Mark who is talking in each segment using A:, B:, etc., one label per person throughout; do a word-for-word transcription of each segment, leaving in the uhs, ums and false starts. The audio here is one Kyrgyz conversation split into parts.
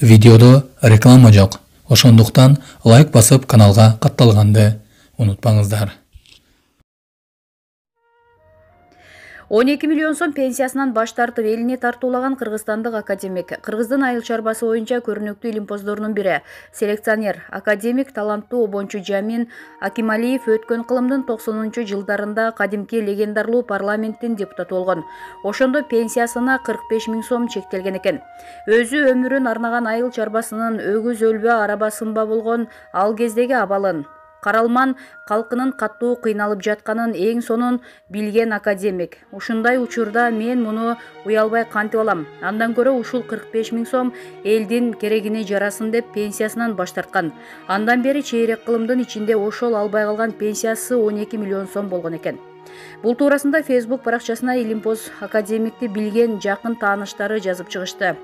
A: Видеодо реклама жок. Ошондуктан лайк басып каналга катталганды унутпаңыздар.
B: он эки миллион сом пенсиясынан баш тартып элине тартуулаган кыргызстандык академик. Кыргыздын айыл чарбасы боюнча көрүнүктүү илимпоздорунун бири, селекционер, академик, таланттуу обончу Жамин Акималиев өткөн кылымдын токсонунчу жылдарында кадимки легендарлуу парламенттин депутаты болгон. Ошондо пенсиясына кырк беш миң сом чектелген экен. Өзү өмүрүн арнаган айыл чарбасынын өгүз өлбө, араба сынба болгон ал кездеги абалын, каралман калкынын каттуу кыйналып жатканын эң сонун билген академик. Ушундай учурда мен муну уялбай кантип алам? Андан көрө ушул кырк беш миң сом элдин керегине жарасын деп пенсиясынан баш тарткан. Андан бери чейрек кылымдын ичинде ошол албай калган пенсиясы он эки миллион сом болгон экен. Бул туурасында Facebook баракчасына илимпоз академикти билген жакын тааныштары жазып чыгышты.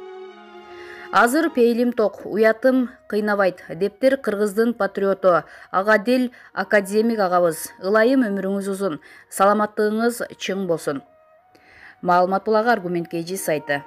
B: Азыр пейлим ток, уятым кыйнабайт, дептир кыргыздын патриоту, Агадил академик агабыз. Ылайым өмүрүңүз узун, саламаттыгыңыз чың болсун. Маалымат булагы Аргумент кей жи сайты.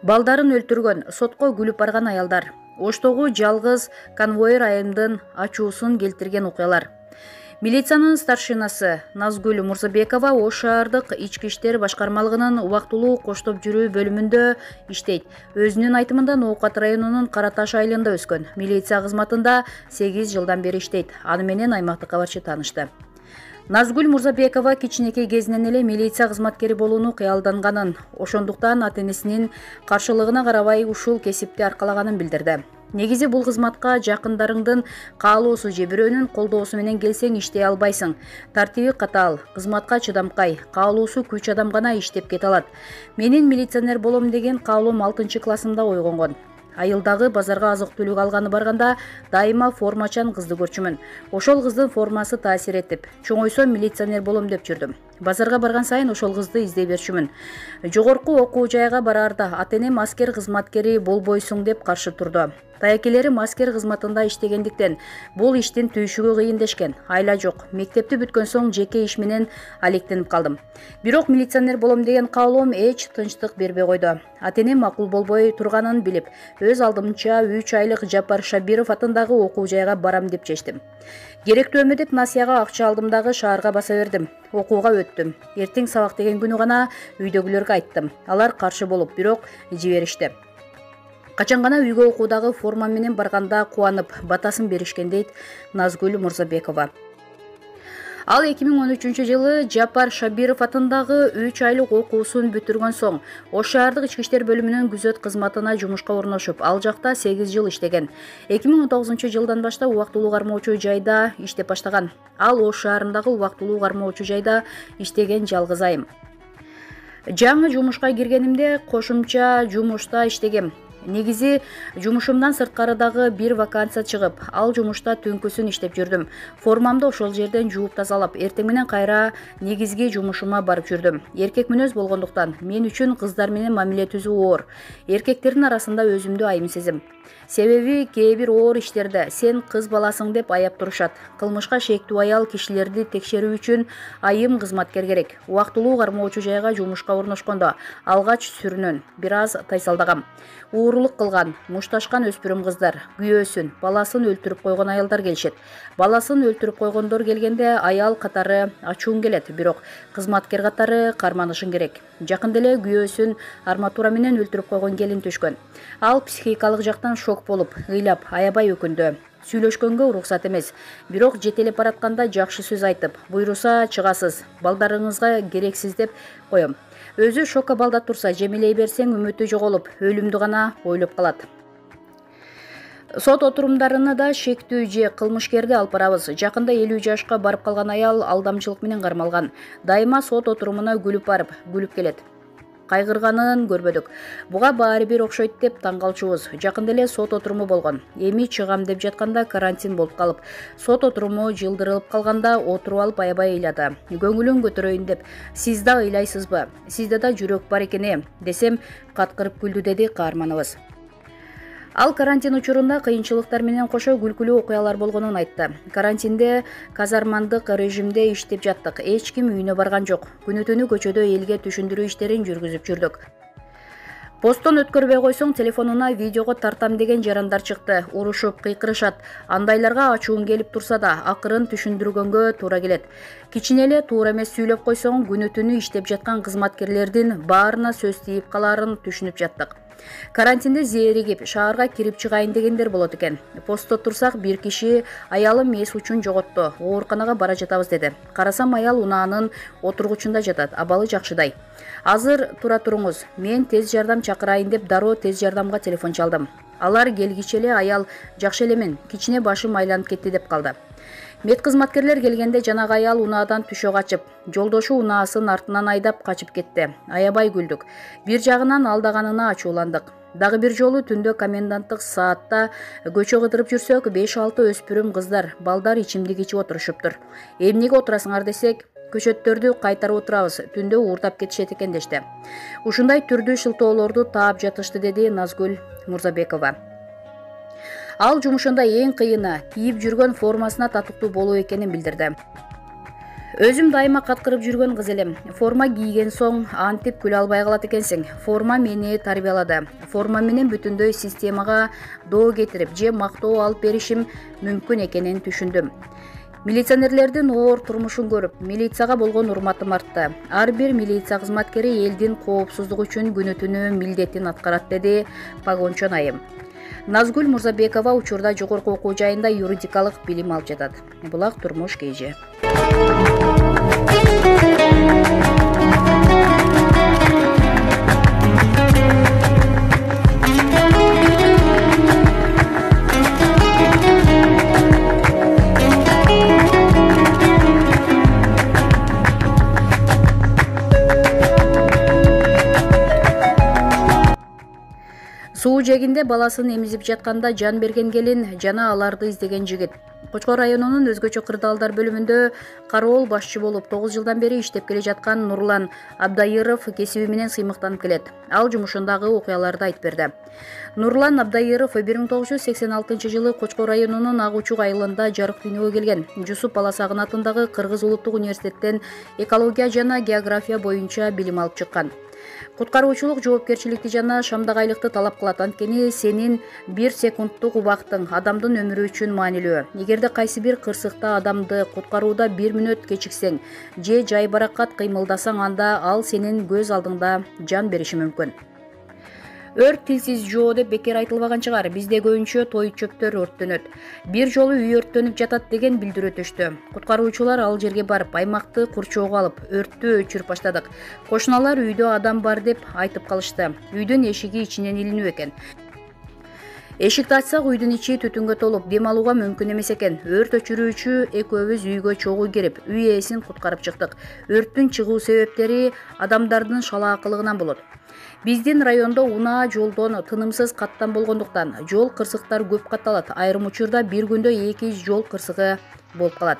B: Балдарын өлтүргөн, сотко күлүп барган аялдар. Оштогу жалгыз конвоир айымдын ачуусун келтирген окуялар. Милициянын старшинасы Назгүл Мурзабекова Ош шаардык ички иштер башкармалыгынын убактылуу коштоп жүрүү бөлүмүндө иштейт. Өзүнүн айтымында Ноокат районунун Караташ айылында өскөн. Милиция кызматында сегиз жылдан бери иштейт. Аны менен аймактык кабарчы таанышты. Назгүл Мурзабекова кичинекей кезинен эле милиция кызматкери болууну кыялданганын, ошондуктан ата-энесинин каршылыгына карабай ушул кесипти аркалаганын билдирди. Негизи бул кызматка жакындарыңдын каалоосу же бирөөнүн колдоосу менен келсең иштей албайсың. Тартиби катаал, кызматка чыдамкай, каалоосу күч адам гана иштеп кете алат. Менин милиционер болом деген каалоом алтынчы классымда ойгонгон. Айылдагы базарга азык-түлүк алганы барганда дайыма формачан кызды көрчүмүн. Ошол кыздын формасы таасир этип, чоңойсом милиционер болом деп жүрдүм. Базарга барган сайын ошол кызды издей берчүмүн. Жогорку окуу жайга бараарда ата-энем аскер кызматкери болбойсуң деп каршы турду. Таякелерим аскер кызматында иштегендиктен бул иштин түйшүгү кыйын дешкен. Айла жок. Мектепти бүткөн соң жеке иш менен алектенип калдым. Бирок милиционер болом деген каалоом эч тынчтык бербей койду. Ата-энем макул болбой турганын билип, өз алдымча үч айлык Жапар Шабиров атындагы окуу жайга барам деп чечтим. Керектүүмө деп насияга акча алдым дагы шаарга баса бердим. Окууга өттүм. Эртең сабак деген күнү гана үйдөгүлөргө айттым. Алар каршы болуп, бирок жиберишти. Качан гана үйгө окуудагы форма менен барганда кубанып, батасын беришкен дейт Назгүл Мурзабекова. Ал эки миң он үчүнчү жылы Жапар Шабиров атындагы үч айлык окуусун бүтүргөн соң Ош шаардык ички иштер бөлүмүнүн күзөт кызматына жумушка орношуп, ал жакта сегиз жыл иштеген. эки миң он тогузунчу жылдан баштап убактылуу кармоочу жайда иштеп баштаган. Ал Ош шаарындагы убактылуу кармоочу жайда иштеген жалгыз айым. Жаңы жумушка киргенимде кошумча жумушта иштегем. Негизи жумушумдан сырткарыдагы бир вакансия чыгып, ал жумушта түнкүсүн иштеп жүрдүм. Формамды ошол жерден жууп тазалап, эртең менен кайра негизги жумушума барып жүрдүм. Эркек мүнөз болгондуктан мен үчүн кыздар менен мамиле түзүү оор. Эркектердин арасында өзүмдү айым сезим. Себеби кээ бир оор иштерде сен кыз баласың деп аяп турушат. Кылмышка шектүү аял кишилерди текшерүү үчүн айым кызматкер керек. Убактылуу кармоочу жайга жумушка орношкондо алгач сүрүнөн бир аз тайсалдагам. Уурулук кылган, мушташкан өспүрүм кыздар, күйөөсүн, баласын өлтүрүп койгон аялдар келишет. Баласын өлтүрүп койгондор келгенде аял катары ачуун келет, бирок кызматкер катары карманышың керек. Жакында эле күйөөсүн арматура менен өлтүрүп койгон келин түшкөн. Ал психикалык жактан шок болуп, ыйлап, аябай өкүндү. Сүйлөшкөнгө уруксат эмес, бирок жетелеп баратканда жакшы сөз айтып, буйруса чыгасыз, балдарыңызга керексиз деп коем. Өзү шокко балда турса, жемелей берсең үмүтү жоголуп, өлүмдү гана ойлоп калат. Сот отурумдарына да шектүү же кылмышкерди алып барабыз. Жакында элүү жашка барып калган аял алдамчылык менен кармалган. Дайыма сот отурумуна күлүп барып, күлүп келет. Кайгырганын көрбөдүк. Буга баары бир окшойт деп таң калчубуз. Жакында эле сот отуруму болгон. Эми чыгам деп жатканда карантин болуп калып, сот отуруму жылдырылып калганда отуруп алып аябай ыйлады. Көңүлүн көтөрөйүн деп, сиз да ыйлайсызбы? Сизде да жүрөк бар экен э, десем каткырып күлдү, деди каарманыбыз. Ал карантин учурунда кыйынчылыктар менен кошо күлкүлүү окуялар болгонун айтты. Карантинде казармандык режимде иштеп жаттык. Эч ким үйүнө барган жок. Күнү-түнү көчөдө элге түшүндүрүү иштерин жүргүзүп жүрдүк. Посттон өткөрбөй койсоң телефонуна видеого тартам деген жарандар чыкты. Урушуп, кыйкырышат. Андайларга ачуун келип турса да, акырын түшүндүргөнгө туура келет. Кичине эле туура эмес сүйлөп койсоң, күнү-түнү иштеп жаткан кызматкерлердин баарына сөз тийип калаарын түшүнүп жаттык. Карантинде зээригип, шаарга кирип чыгайын дегендер болот экен. Постто турсак, бир киши аялым эс учун жоготту, ооруканага бара жатабыз деди. Карасам, аял унаанын отургучунда жатат, абалы жакшыдай. Азыр тура туруңуз, мен тез жардам чакырайын деп дароо тез жардамга телефон чалдым. Алар келгиче эле аял жакшы элемин, кичине башым айланып кетти деп калды. Медкызматкерлер келгенде жанагы аял унаадан түшө качып, жолдошу унаасын артынан айдап качып кетти. Аябай күлдүк. Бир жагынан алдаганына ачууландык. Дагы бир жолу түндө коменданттык саатта көчө кыдырып жүрсөк, беш алты өспүрүм кыздар, балдар ичимдик ичип отурушуптур. Эмнеге отурасыңар десек, көчөттөрдү кайтарып отурабыз, түндө уурдап кетишет экен дешти. Ушундай түрдүү шылтоолорду таап жатышты, деди Назгүл Мурзабекова. Ал жумушунда эң кыйыны кийип жүргөн формасына татыктуу болуу экенин билдирди. Өзүм дайыма каткырып жүргөн кыз элем. Форма кийген соң антип күлө албай калат экенсиң. Форма мени тарбиялады. Форма менен бүтүндөй системага доо кетирип, же мактоо алып беришим мүмкүн экенин түшүндүм. Милиционерлердин оор турмушун көрүп, милицияга болгон урматым артты. Ар бир милиция кызматкери элдин коопсуздугу үчүн күнү-түнү милдетин аткарат, деди Погончон айым. Назгүл Мурзабекова учурда жогорку окуу жайында юридикалык билим алып жатат. Булак турмуш кежи. Суу жегинде баласын эмизип жатканда жан берген келин жана аларды издеген жигит. Кочкор районунун өзгөчө кырдаалдар бөлүмүндө кароол башчы болуп тогуз жылдан бери иштеп келе жаткан Нурлан Абдайыров кесиби менен сыймыктанып келет. Ал жумушундагы окуяларды айтып берди. Нурлан Абдайыров бир миң тогуз жүз сексен алтынчы жылы Кочкор районунун Ак Учук айылында жарык дүйнөгө келген. Жусуп Баласагын атындагы Кыргыз улуттук университеттен экология жана география боюнча билим алып чыккан. Куткаруучулук жоопкерчиликти жана шамдагайлыкты талап кылат, анткени сенин бир секундтук убактың адамдын өмүрү үчүн маанилүү. Эгерде кайсы бир кырсыкта адамды куткарууда бир мүнөт кечиксең же жайбаракат кыймылдасаң, анда ал сенин көз алдыңда жан бериши мүмкүн. Өрт тилсиз жоо деп бекер айтылбаган чыгар. Бизде көбүнчө той чөптөр өрттөнөт. Бир жолу үй өрттөнүп жатат деген билдирүү өтүштү. Куткаруучулар ал жерге барып, аймакты курчоого алып, өрттү өчүрүп баштадык. Кошуналар үйдө адам бар деп айтып калышты. Үйдүн эшиги ичинен илинүү экен. Эшикти ачсак, үйдүн ичи түтүнгө толуп, дем алууга мүмкүн эмес экен. Өрт өчүрүүчү экөөбүз үйгө чогуу кирип, үй ээсин куткарып чыктык. Өрттүн чыгуу себептери адамдардын шалаакылыгынан болот. Биздин райондо унаа жолдон тынымсыз каттан болгондуктан жол кырсыктар көп катталат. Айрым учурда бир күндө эки жол кырсыгы болуп калат.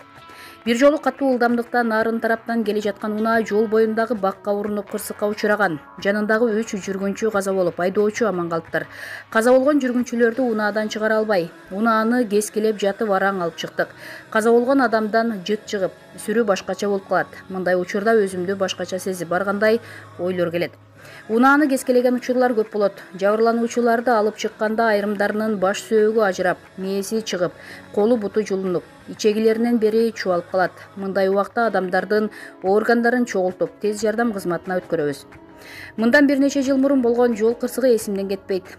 B: Бир жолу катуу ылдамдыкта нарын тараптан келе жаткан унаа жол боюндагы бакка урунуп кырсыкка учураган. Жанындагы үч жүргүнчү каза болуп, айдоочу аман калыптыр. Каза болгон жүргүнчүлөрдү унаадан чыгара албай, унааны кескилеп жатып араң алып чыктык. Каза болгон адамдан жыт чыгып, сүрү башкача болуп калат. Мындай учурда өзүмдү башкача сезип баргандай ойлор келет. Унааны кескилеген учурлар көп болот. Жабырлануучуларды алып чыкканда айрымдарынын баш сөөгү ажырап, мээси чыгып, колу буту жулунуп, ичегилеринен бери чубалып калат. Мындай убакта адамдардын органдарын чогултуп, тез жардам кызматына өткөрөбүз. Мындан бир нече жыл мурун болгон жол кырсыгы эсимден кетпейт.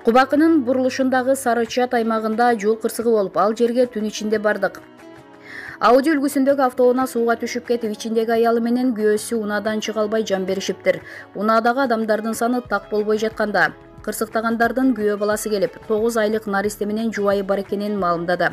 B: Кубакынын бурулушундагы Сары Чат аймагында жол кырсыгы болуп, ал жерге түн ичинде бардык. Ауди үлгүсүндөгү автоунаа сууга түшүп кетип, ичиндеги аялы менен күйөөсү унаадан чыга албай жан беришиптир. Унаадагы адамдардын саны так болбой жатканда, кырсыктагандардын күйөө баласы келип, тогуз айлык наристе менен жубайы бар экенин маалымдады.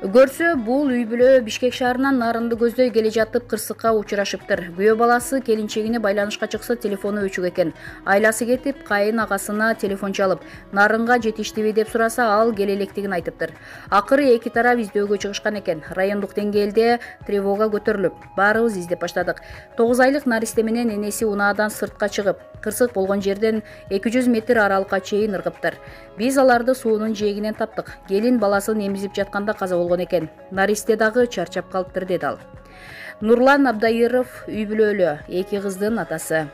B: Көрсө, бул үй бүлө Бишкек шаарынан Нарынды көздөй келе жатып кырсыкка учурашыптыр. Күйөө баласы келинчегине байланышка чыкса телефону өчүк экен. Айласы кетип, кайын агасына телефон чалып, Нарынга жетиштиби деп сураса, ал келе электигин айтыптыр. Акыры эки тарап издөөгө чыгышкан экен. Райондук деңгээлде тревога көтөрүлүп, баарыбыз издеп баштадык. тогуз айлык наристе менен энеси унаадан сыртка чыгып, кырсык болгон жерден эки жүз метр аралыкка чейин ыргыптыр. Биз аларды суунун жээгинен таптык. Келин баласын эмизип жатканда каза болгон экен. Наристе дагы чарчап калыптыр, деди ал. Нурлан Абдайыров үй бүлөлүү, эки кыздын атасы.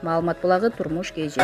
B: Маалымат булагы Турмуш кей же.